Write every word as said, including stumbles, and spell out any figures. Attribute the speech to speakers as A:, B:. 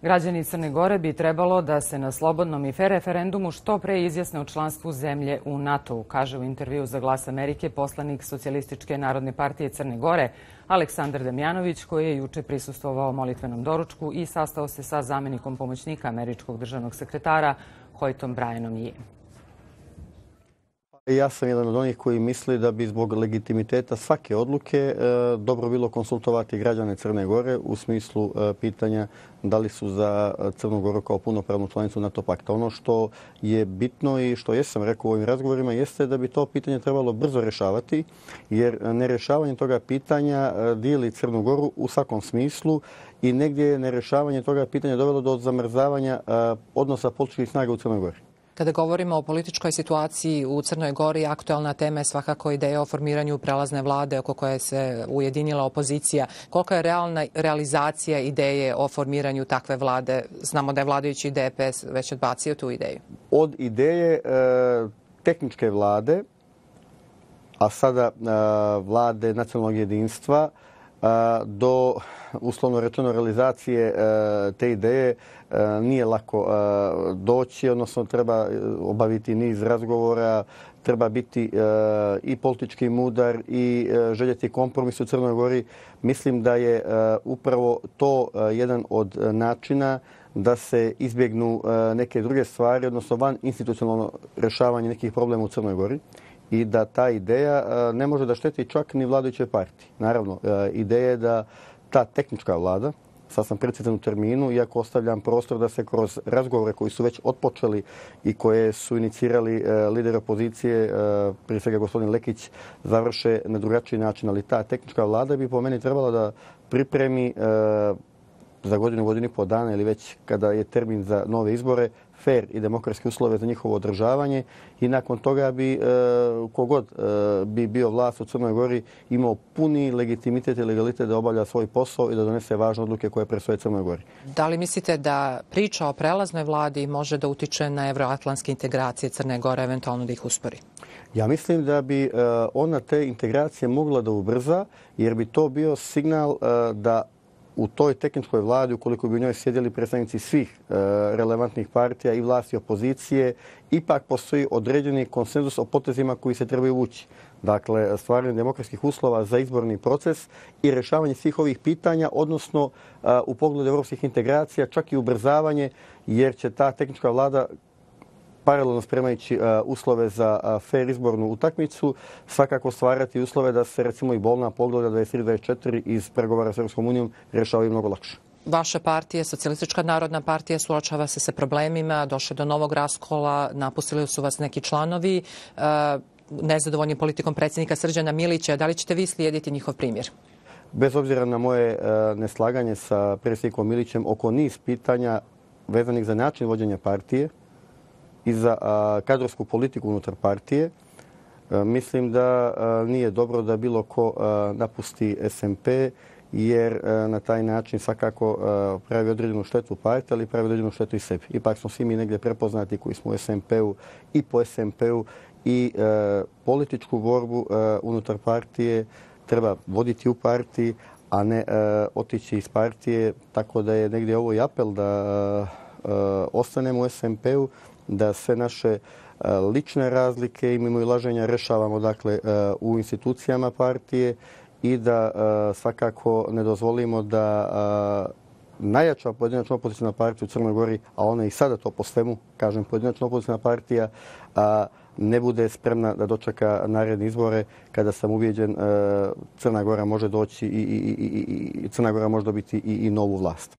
A: Građani Crne Gore bi trebalo da se na slobodnom i fer referendumu što pre izjasne o članstvu zemlje u NATO-u, kaže u intervju za Glas Amerike poslanik Socijalističke narodne partije Crne Gore Aleksandar Damjanović, koji je juče prisustvovao molitvenom doručku i sastao se sa zamenikom pomoćnika američkog državnog sekretara Hoytom Bryanom Yee.
B: Ja sam jedan od onih koji misli da bi zbog legitimiteta svake odluke e, dobro bilo konsultovati građane Crne Gore u smislu e, pitanja da li su za Crnu Goru kao punopravnu članicu NATO pakta. Ono što je bitno i što jesam rekao u ovim razgovorima jeste da bi to pitanje trebalo brzo rješavati, jer nerješavanje toga pitanja e, dijeli Crnu Goru u svakom smislu i negdje je nerješavanje toga pitanja dovelo do zamrzavanja e, odnosa političkih snaga u Crnoj Gori.
C: Kada govorimo o političkoj situaciji u Crnoj Gori, aktualna tema je svakako ideja o formiranju prelazne vlade oko koje se ujedinila opozicija. Kolika je realna realizacija ideje o formiranju takve vlade? Znamo da je vladajući D P S već odbacio tu ideju.
B: Od ideje e, tehničke vlade, a sada e, vlade nacionalnog jedinstva, do uslovno rečeno realizacije te ideje nije lako doći, odnosno treba obaviti niz razgovora, treba biti i politički mudar i željeti kompromis u Crnoj Gori. Mislim da je upravo to jedan od načina da se izbjegnu neke druge stvari, odnosno van institucionalno rješavanje nekih problema u Crnoj Gori. I da ta ideja ne može da šteti čak ni vladajućoj partiji. Naravno, ideja je da ta tehnička vlada, sad sam precizan u terminu, iako ostavljam prostor da se kroz razgovore koji su već otpočeli i koje su inicirali lideri opozicije, prije svega gospodin Lekić, završe na drugačiji način, ali ta tehnička vlada bi po meni trebala da pripremi za godinu, godinu i po dana ili već kada je termin za nove izbore, fer i demokratske uslove za njihovo održavanje i nakon toga bi e, kogod e, bi bio vlast u Crnoj Gori imao puni legitimitet i legalitet da obavlja svoj posao i da donese važne odluke koje predstoje Crnoj Gori.
C: Da li mislite da priča o prelaznoj vladi može da utiče na evroatlantske integracije Crne Gore, eventualno da ih uspori?
B: Ja mislim da bi e, ona te integracije mogla da ubrza, jer bi to bio signal e, da u toj tehničkoj vladi, ukoliko bi u njoj sjedili predstavnici svih e, relevantnih partija i vlasti i opozicije, ipak postoji određeni konsenzus o potezima koji se trebaju vući. Dakle, stvaranje demokratskih uslova za izborni proces i rješavanje svih ovih pitanja, odnosno e, u pogledu evropskih integracija, čak i ubrzavanje, jer će ta tehnička vlada paralelno spremajući uh, uslove za uh, fair izbornu utakmicu, svakako stvarati uslove da se recimo i bolna poglavlja dvadeset tri dvadeset četiri iz pregovora s Europskom unijom rješavaju mnogo lakše.
C: Vaša partija, Socijalistička narodna partija, suočava se sa problemima, došlo do novog raskola, napustili su vas neki članovi, uh, nezadovoljni politikom predsjednika Srđana Milića. Da li ćete vi slijediti njihov primjer?
B: Bez obzira na moje uh, neslaganje sa predsjednikom Milićem oko niz pitanja vezanih za način vođenja partije i za a, kadrovsku politiku unutar partije, a, mislim da a, nije dobro da bilo ko a, napusti S M P, jer a, na taj način svakako a, pravi određenu štetu partije, ali pravi određenu štetu i sebi. Ipak smo svi mi negdje prepoznati koji smo u S M P-u i po S M P-u i a, političku borbu a, unutar partije treba voditi u partiji, a ne a, otići iz partije, tako da je negdje ovo i apel da a, a, ostanemo u S M P-u, da sve naše lične razlike i mimoilaženja rješavamo dakle u institucijama partije i da svakako ne dozvolimo da najjača pojedinačna opozicijna partija u Crnoj Gori, a ona i sada to po svemu, kažem, pojedinačna opozicijna partija, ne bude spremna da dočeka naredne izbore kada sam ubijeđen Crna Gora može doći i, i, i, i Crna Gora može dobiti i, i novu vlast.